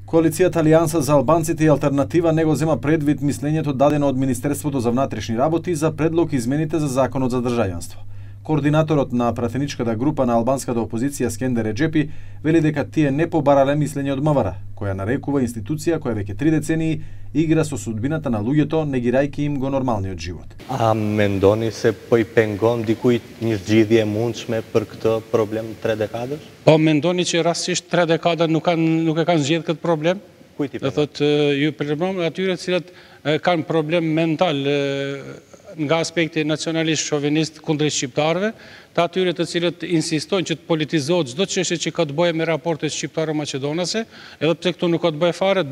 Коалицијата Алијанса за албанците и алтернатива не го зема предвид мислењето дадено од Министерството за внатрешни работи за предлог измените за законот за државјанство. Координаторот на пратеничката група на албанската опозиција Скендер Реджепи вели дека тие не побарале мислење од МВР, која нарекува институција која веќе 3 децении игра со судбината на луѓето, негирајќи им го нормалниот живот. A mendoni se po I pengon dikujt një zgjidhje e mundshme për këtë problem 3 dekadësh? Po mendoni që rastësisht 3 dekada nuk e kanë zgjedhur këtë problem? Kujt I Do thotë ju problem atyre të cilët kanë problem mental nga aspekti nacionalist shovinist kundrejt shqiptarëve, të atyre të cilët insistojnë që të politizohet çdo çështje që ka të bëjë me raportet shqiptaro-maqedonase, edhe pse këtu nuk ka të bëjë fare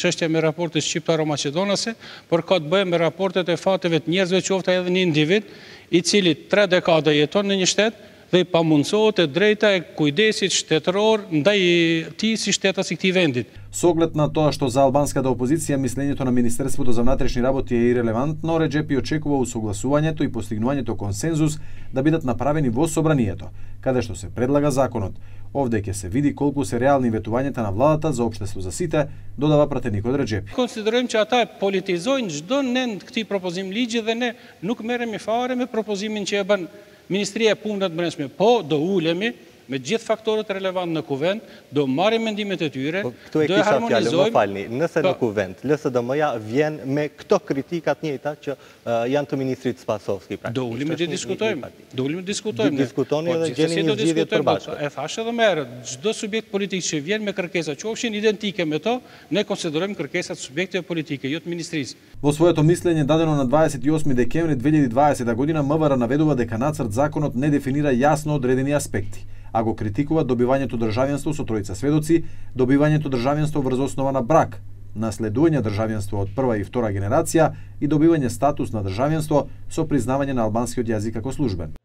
çështja me raportet shqiptaro-maqedonase, por ka të bëjë me raportet e fateve të njerëzve, qoftë edhe një individ I cili 3 dekada jeton në një shtet dhe I pamundsohet e drejta e kujdesit shtetëror ndaj tij si shtetas I këtij vendit. Со оглед на тоа што за албанската опозиција мислењето на Министерството за внатрешни работи е ирелевантно, Реджепи очекува усогласувањето и постигнувањето консензус да бидат направени во собранието, каде што се предлага законот. Овде ќе се види колку се реални ветувањата на владата за општество за сите, додава пратеникот Реджепи. Консидерojmë që ata politizojnë çdo nen këtij propozim ligji dhe ne nuk merremi fare me propozimin që e bën Ministria e Punëve të Brendshme, po do ulemi me gjithë faktorët relevant në kuvend, do marrim mendimet e tyre, do e harmonizojmë. Më falni, nëse në kuvend, LSDM-ja vjen me këto kritikat njëjta që janë të ministrit Spasovski. Do ulemi të diskutojmë. Do ulemi të diskutojmë. Diskutoni dhe gjeni një zgjidhje të përbashkët. E thash edhe më herët, çdo subjekt politik që vjen me kërkesa qofshin identike me to, ne konsiderojmë kërkesat subjekteve politike, jo të ministrisë. Во своето мислење дадено на 28 декември 2020 година МВР наведува дека нацрт законот не дефинира јасно одредени аспекти, а го критикува добивањето државјанство со тројца сведоци, добивањето државјанство врз основа на брак, наследување државјанство од прва и втора генерација и добивање статус на државјанство со признавање на албанскиот јазик како службен.